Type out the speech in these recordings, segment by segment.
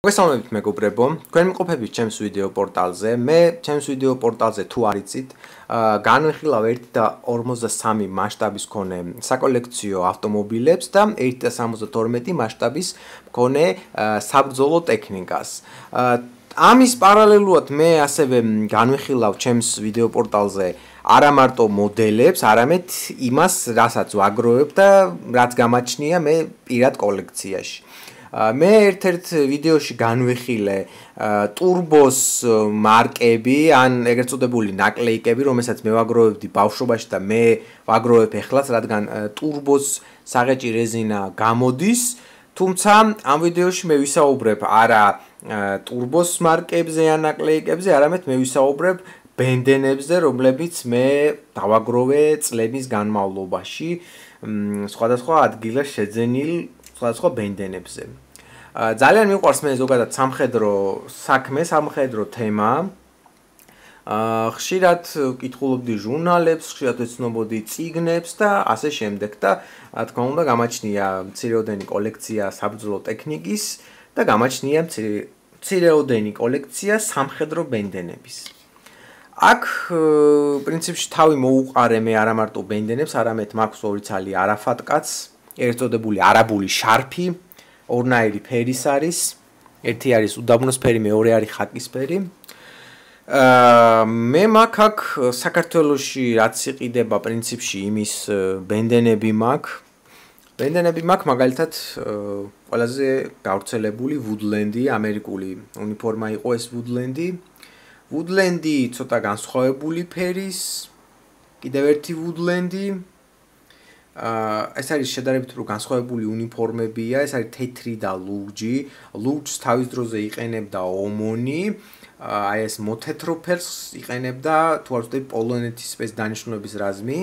მოგესალმებით მეგობრებო, თქვენ მიყოფებით ჩემს ვიდეო პორტალზე. მე ჩემს ვიდეო პორტალზე თუ არ იცით, განვიხილავ 1:53 მასშტაბის მქონე საკოლექციო ავტომობილებს და 1:72 მასშტაბის მქონე საბრძოლო ტექნიკას. ამის პარალელურად მე ასევე განვიხილავ ჩემს ვიდეო პორტალზე არა მარტო მოდელებს, არამედ იმას, რასაც ვაგროვებ და რაც გამაჩნია მე პირად კოლექციაში. მე ერთ-ერთ ვიდეოში განვიხილე ტურბოს მარკები, ან ეგრეთ წოდებული ნაკლეიკები, რომელსაც მე ვაგროვებდი ბავშვობაში და მე ვაგროვებ ეხლაც, რადგან ტურბოს საღეჭი რეზინა გამოდის, თუმცა ამ ვიდეოში მე ვისაუბრებ არა ტურბოს მარკებზე ან ნაკლეიკებზე, არამედ მე ვისაუბრებ ბენდენებზე, რომლებიც მე დავაგროვე წლების განმავლობაში, სხვადასხვა ადგილას შეძენილ სხვადასხვა ბენდენებზე. ძალიან მიყვარს მე ზოგადად სამხედრო საქმე, სამხედრო თემა. ხშირად ვკითხულობდი ჟურნალებს, ხშირად ვეცნობოდი წიგნებს და ასე შემდეგ და რა თქმა უნდა გამაჩნია მცირეოდენი კოლექცია საბრძოლო ტექნიკის და გამაჩნია მცირეოდენი კოლექცია სამხედრო ბენდენების. აქ პრინციპში თავი მოუყარე მე არა მარტო ბენდენებს, არამედ მაქვს ორი ცალი არაფატკაც, ერთ წოდებული არაბული შარფი, ორნაირი ფერის არის, ერთი არის უდაბნოსფერი, მეორე არის ხაკისფერი. მე მაქვს აქ საქართველოში რაც იყიდება პრინციპში იმის ბენდენები მაქვს. ბენდენები მაქვს მაგალითად ყველაზე გავრცელებული ვუდლენდი, ამერიკული უნიფორმა იყო ეს ვუდლენდი. ვუდლენდი ცოტა განსხვავებული ფერის, კიდევ ერთი ვუდლენდი. ეს არის შედარებით უფრო განსხვავებული უნიფორმებია, ეს არის თეთრი და ლურჯი. ლურჯს თავის დროზე იყენებდა ომონი, აი ეს მოთეთრო ფერს იყენებდა თუ არ ვცდები პოლონეთის სპეცდანიშნულების რაზმი.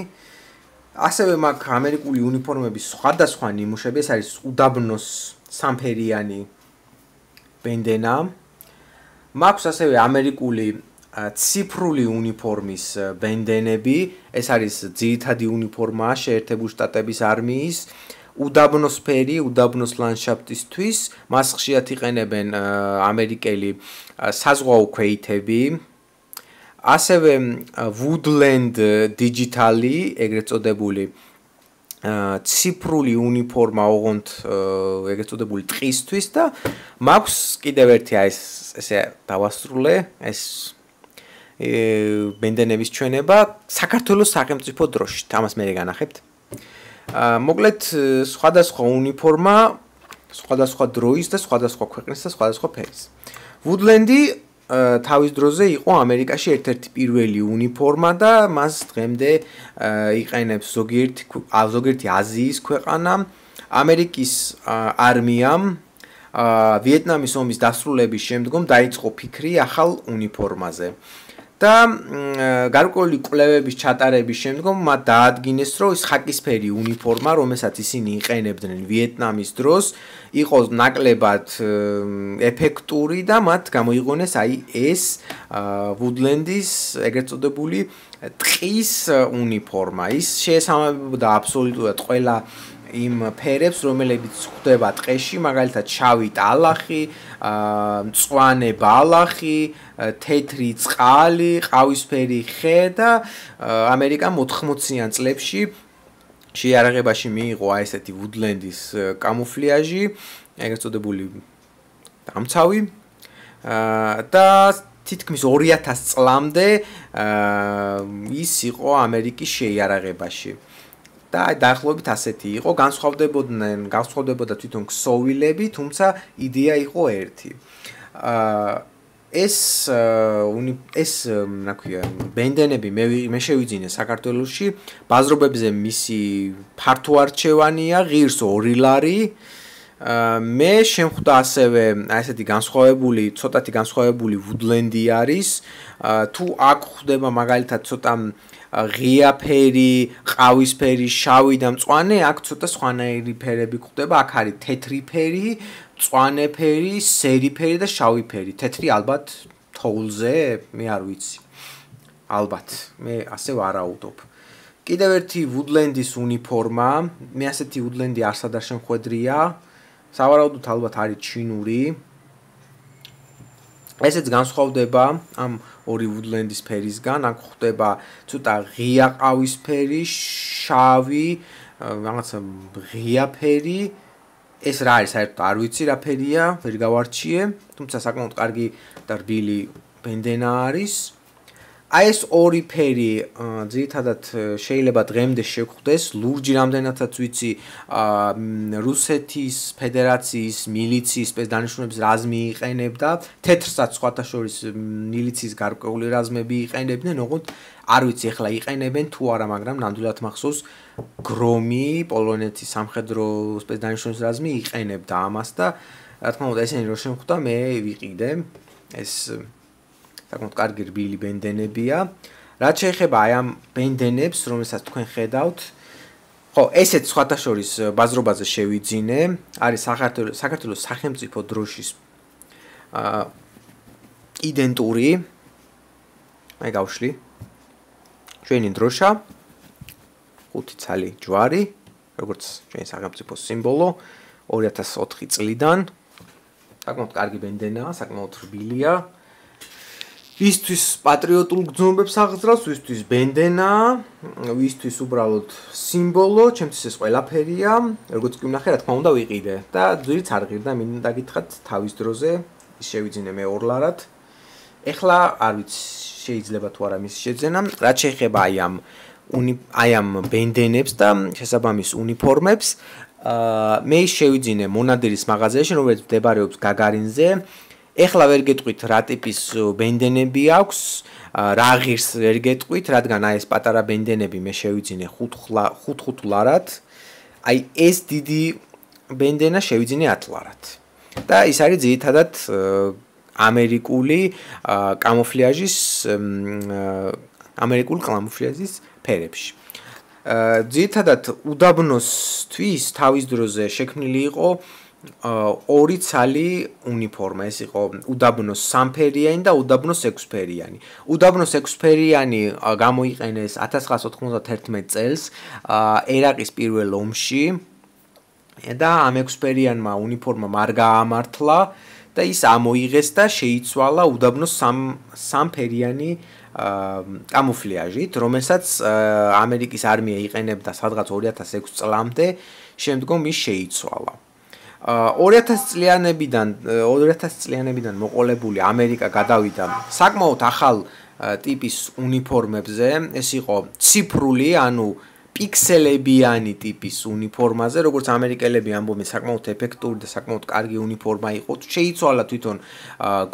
ასევე მაქვს ამერიკული უნიფორმების სხვადასხვა ნიმუშები, ეს არის უდაბნოს სამფერიანი ბენდენა. მაქვს ასევე ამერიკული ციფრული უნიფორმის ბენდენები, ეს არის ძირითადი უნიფორმა შეერთებული შტატების არმიის, უდაბნოსფერი, უდაბნოს ლანდშაფტისთვის, მას ხშირად იყენებენ ამერიკელი საზღვაო ქვეითები. ასევე ვუდლენდ დიჯიტალი, ეგრეთ წოდებული ციფრული უნიფორმა, ოღონდ ეგრეთ წოდებული ტყისთვის და მაქვს კიდევ ერთი აი ესე დავასრულე, ეს ბენდენების ჩვენება საქართველოს სახელმწიფო დროშით, ამას მე განახებთ. მოკლედ სხვადასხვა უნიფორმა, სხვადასხვა დროის და სხვადასხვა ქვეყნის და სხვადასხვა ფერის. ვუდლენდი თავის დროზე იყო ამერიკაში ერთ-ერთი პირველი უნიფორმა და მას დღემდე იყენებს ზოგიერთი აზიის ქვეყანა, ამერიკის არმიამ ვიეტნამის ომის დასრულების შემდგომ დაიწყო ფიქრი ახალ უნიფორმაზე. და გარკვეული კვლევების ჩატარების შემდგომ მათ დაადგინეს, რომ ის ხაკისფერი უნიფორმა, რომელსაც ისინი იყენებდნენ ვიეტნამის დროს, იყო ნაკლებად ეფექტური და მათ გამოიგონეს აი ეს ვუდლენდის ეგრეთ წოდებული ტყის უნიფორმა. ის შეესაბამებოდა აბსოლუტურად ყველა იმ ფერებს, რომლებიც გვხვდება ტყეში, მაგალითად შავი ტალახი, მწვანე ბალახი, თეთრი წყალი, ყავისფერი ხე და ამერიკამ 80-იან წლებში შეიარაღებაში მიიღო აი ესეთი ვუდლენდის კამუფლიაჟი, ეგრეთ წოდებული დამცავი და თითქმის 2000 წლამდე ის იყო ამერიკის შეიარაღებაში. და დაახლოებით ასეთი იყო, განსხვავდებოდა თვითონ ქსოვილები, თუმცა იდეა იყო ერთი. ეს რა ქვია, ბენდენები მე შევიძინე საქართველოში, ბაზრობებზე მისი ფართო არჩევანია, ღირს 2 ლარი. მე შემხვდა ასევე აი ესეთი ცოტათი განსხვავებული ვუდლენდი არის. თუ აქ ხდება მაგალითად ცოტა ღია ფერი, ყავისფერი, შავი და მწვანე, აქ ცოტა სხვანაირი ფერები გვხვდება. აქ არის თეთრი ფერი, მწვანე ფერი, სერი ფერი და შავი ფერი. თეთრი ალბათ თოვლზე, მე არ ვიცი. ალბათ, მე ასე ვარაუდობ. კიდევ ერთი ვუდლენდის უნიფორმა, მე ასეთი ვუდლენდი არსად არ შემხვედრია. სავარაუდოდ ალბათ არის ჩინური. ესეც განსხვავდება ამ ორი woodland-ის ფერისგან, აქ ხდება ცოტა ღია ყავისფერი, შავი, რაღაცა ღია ფერი. ეს რა არის, საერთოდ არ ვიცი რა ფერია, ვერ გავარჩიე, თუმცა საკმაოდ კარგი და რბილი ბენდენა არის. აი ეს ორი ფერი ძირითადად შეიძლება დღემდე შეგხვდეს, ლურჯი რამდენადაც ვიცი, რუსეთის ფედერაციის მილიციის სპეცდანიშნულების რაზმი იყენებდა, თეთრსაც სხვათა შორის მილიციის გარკვეული რაზმები იყენებდნენ, ოღონდ არ ვიცი ახლა იყენებენ თუ არა, მაგრამ ნამდვილად მახსოვს გრომი, პოლონეთის სამხედრო სპეცდანიშნულების რაზმი იყენებდა ამას და რა თქმა უნდა ესენი რო შემხვდა, მე ვიყიდე ეს საკმაოდ კარგი რბილი ბენდენებია. რაც შეეხება აი ამ ბენდენებს, რომელსაც თქვენ ხედავთ, ხო, ესეც სხვათა შორის ბაზრობაზე შევიძინე, არის საქართველოს სახელმწიფო დროშის იდენტური. აი გავშლი. ჩვენი დროშა 5 ცალი ჯვარი, როგორც ჩვენი სახელმწიფოს სიმბოლო 2004 წლიდან. საკმაოდ კარგი ბენდენაა, საკმაოდ რბილია. ვისთვის პატრიოტულ გრძნობებს აღძრავს, ვისთვის ბენდენა, ვისთვის უბრალოდ სიმბოლო, ჩემთვის ეს ყველაფერია, როგორც კი ვნახე, რა თქმა უნდა ვიყიდე და ძვირიც არ ღირდა, მინდა გითხრათ თავის დროზე, ის შევიძინე მე ორლარად. ეხლა არ ვიცი, შეიძლება თუ არა მის შეძენა, რაც შეეხება აი ამ ბენდენებს და შესაბამის უნიფორმებს, მე შევიძინე მონადირის მაღაზიაში, რომელიც მდებარეობს გაგარინზე. ეხლა ვერ გეტყვით რა ტიპის ბენდენები აქვს, რა ღირს ვერ გეტყვით, რადგან აი ეს პატარა ბენდენები მე შევიძინე 5 ლარად. აი ეს დიდი ბენდენა შევიძინე 10 ლარად. და ის არის ძირითადად ამერიკული კამოფლიაჟის ფერებში. ძირითადად უდაბნოსთვის თავის დროზე შექმნილი იყო ორი ცალი უნიფორმა, ეს იყო უდაბნოს 3-ფერიანი და უდაბნოს 6-ფერიანი. უდაბნოს 6-ფერიანი გამოიყენეს 1991 წელს ერაყის პირველ ომში და ამ 6-ფერიანმა უნიფორმამ არ გაამართლა და ის ამოიღეს და შეიცვალა უდაბნოს 3-ფერიანი კამოფლიაჟით, რომელსაც ამერიკის არმია იყენებდა სადღაც 2006 წლამდე, შემდგომ ის შეიცვალა. 2000 წლიანებიდან მოყოლებული ამერიკა გადავიდა საკმაოდ ახალ ტიპის უნიფორმებზე, ეს იყო ციფრული, ანუ პიქსელებიანი ტიპის უნიფორმაზე, როგორც ამერიკელები ამბობენ, საკმაოდ ეფექტური და საკმაოდ კარგი უნიფორმა იყო. შეიცვალა თვითონ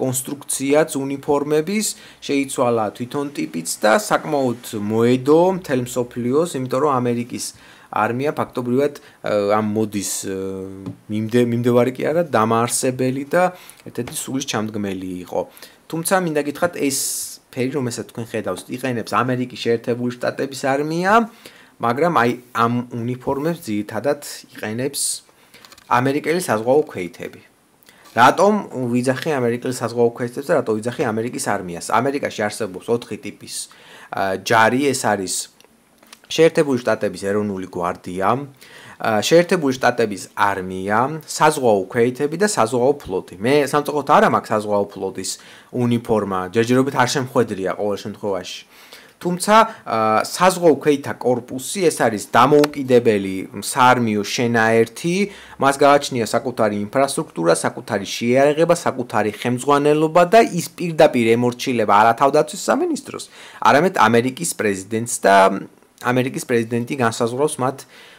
კონსტრუქციაც უნიფორმების, შეიცვალა თვითონ ტიპიც და საკმაოდ მოედო მთელ მსოფლიოს, იმიტომ რომ ამერიკის არმია ფაქტობრივად ამ მოდის მიმდევარი კი არა, დამაარსებელი და ერთ-ერთი სულის ჩამდგმელი იყო. თუმცა მინდა გითხრათ, ეს ფერი, რომელსაც თქვენ ხედავთ, იყენებს ამერიკის შეერთებული შტატების არმია, მაგრამ აი ამ უნიფორმებს ძირითადად იყენებს ამერიკელი საზღვაო ქვეითები. რატომ ვიძახი ამერიკელი საზღვაო ქვეითებს და რატომ ვიძახი ამერიკის არმიას? ამერიკაში არსებობს 4 ტიპის ჯარი, ეს არის შეერთებული შტატების ეროვნული გვარდია, შეერთებული შტატების არმია, საზღვაო ქვეითები და საზღვაო ფლოტი. მე სამწუხაროდ არ მაქვს საზღვაო ფლოტის უნიფორმა, ჯერჯერობით არ შემხვედრია ყოველ შემთხვევაში. თუმცა საზღვაო ქვეითა კორპუსი, ეს არის დამოუკიდებელი საარმიო შენაერთი, მას გააჩნია საკუთარი ინფრასტრუქტურა, საკუთარი შეიარაღება, საკუთარი ხელმძღვანელობა და ის პირდაპირ ემორჩილება არა თავდაცვის სამინისტროს, არამედ ამერიკის პრეზიდენტს და ამერიკის პრეზიდენტი განსაზღვრავს მათ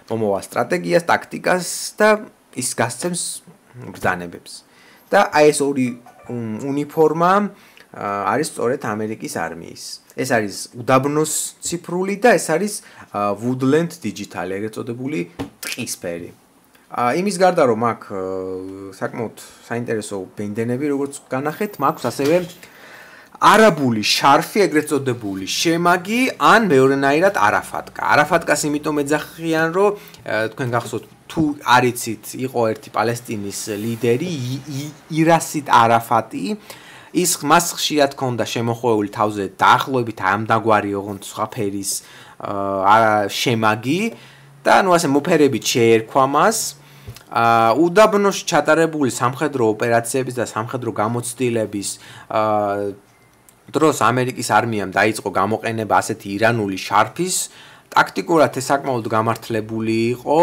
მომავალ სტრატეგიას, ტაქტიკას და ის გასცემს ბრძანებებს. და აი ეს ორი უნიფორმა არის სწორედ ამერიკის არმიის. ეს არის უდაბნოს ციფრული და ეს არის woodland digital, ეგრეთ წოდებული ტყისფერი. იმის გარდა რომ აქვს საკმაოდ საინტერესო ბენდენები, როგორც განახეთ, მაქვს ასევე არაბული შარფი, ეგრეთ წოდებული შემაგი, ან მეორენაირად არაფატკა. არაფატკას იმიტომ ეძახიან, რომ თქვენ გახსოვთ, თუ არ იცით, იყო ერთი პალესტინის ლიდერი, ირასით არაფატი. ის მას ხშირად ჰქონდა შემოხვეული თავზე დაახლოებით ამდაგვარი ოღონდ სხვა ფერის შემაგი და ნუ ასე მოფერებით შეერქვა მას უდაბნოში ჩატარებული სამხედრო ოპერაციების და სამხედრო გამოცდილების დროს ამერიკის არმიამ დაიწყო გამოყენება ასეთი ირანული შარფის. ტაქტიკურად ეს საკმაოდ გამართლებული იყო.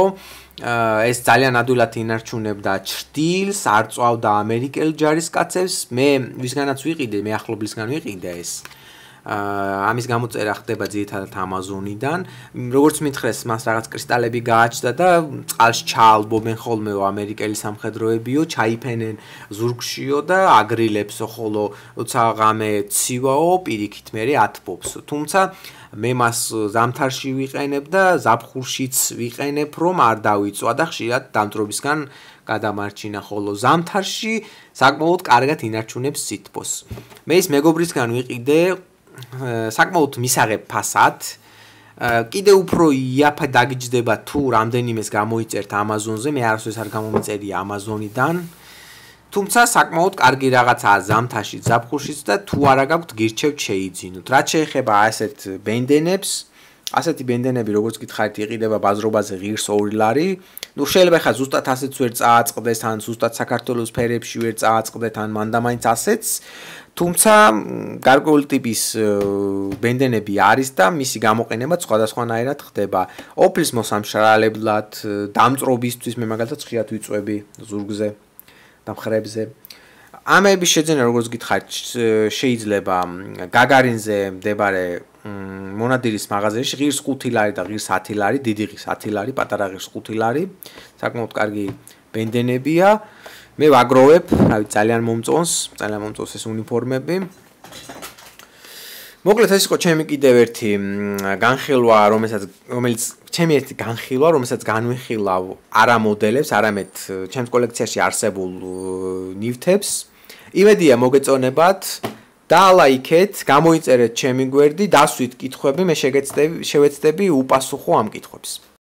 ეს ძალიან ადვილად ინარჩუნებდა ჭრდილს, არ წვავდა ამერიკელ ჯარისკაცებს. მე ვისგანაც ვიყიდე, მე ახლობლისგან ვიყიდე ეს. ამის გამოწერა ხდება ძირითადად ამაზონიდან. როგორც მითხრეს, მას რაღაც კრისტალები გააჩნდა და წყალში ჩაალბობენ ხოლმე ამერიკელი სამხედროებიო, ჩაიფენენ ზურგშიო და აგრილებსო, ხოლო როცა ღამე ცივაო, პირიქით მერე ათბობს. თუმცა მე მას ზამთარში ვიყენებ და ზაფხულშიც ვიყენებ, რომ არ დავიწვა და ხშირად დამწრობისგან გადამარჩინა, ხოლო ზამთარში საკმაოდ კარგად ინარჩუნებს სითბოს. მე ის მეგობრისგან ვიყიდე საკმაოდ მისაღებ ფასად. კიდე უფრო იაფად დაგიჯდება თუ რამდენიმეს გამოიწერთ ამაზონზე, მე არასდროს არ გამომიწერია ამაზონიდან. თუმცა საკმაოდ კარგი რაღაცაა ზამთარში, ზაფხულშიც და თუ არა გაქვთ გირჩევთ შეიძინოთ. რაც შეეხება ასეთ ბენდენებს, ასეთი ბენდენები როგორც გითხარით იყიდება ბაზრობაზე ღირს 2 ლარი. ნუ შეიძლება ხა ზუსტად ასეც ვერ წააწყდეს, ან ზუსტად საქართველოს ფერებში ვერ წააწყდეთ, ან მანდამაინც ასეც. თუმცა გარკვეული ტიპის ბენდენები არის და მისი გამოყენება სხვადასხვანაირად ხდება. ოფლის მოსამშრალებლად, დამწრობისთვის მე მაგალითად ხშირად ვიწვევი ზურგზე და მხრებზე. ამების შეძენა როგორც გითხარით შეიძლება გაგარინზე მდებარე მონადირის მაღაზიაში ღირს 5 ლარი და ღირს 10 ლარი, დიდი ღირს 10 ლარი, პატარა ღირს 5 ლარი. საკმაოდ კარგი ბენდენებია. მე ვაგროვებ, რავი, ძალიან მომწონს ეს უნიფორმები. მოკლედ ეს იყო ჩემი კიდევ ერთი განხილვა, რომელიც ჩემი ერთი განხილვა, რომელსაც განვიხილავ არა მოდელებს, არამედ ჩემს კოლექციაში არსებულ ნივთებს. იმედია მოგეწონებათ. დაალაიქეთ, გამოიწერეთ ჩემი გვერდი, დასვით კითხვები, მე შევეცდები უპასუხო ამ კითხვებს.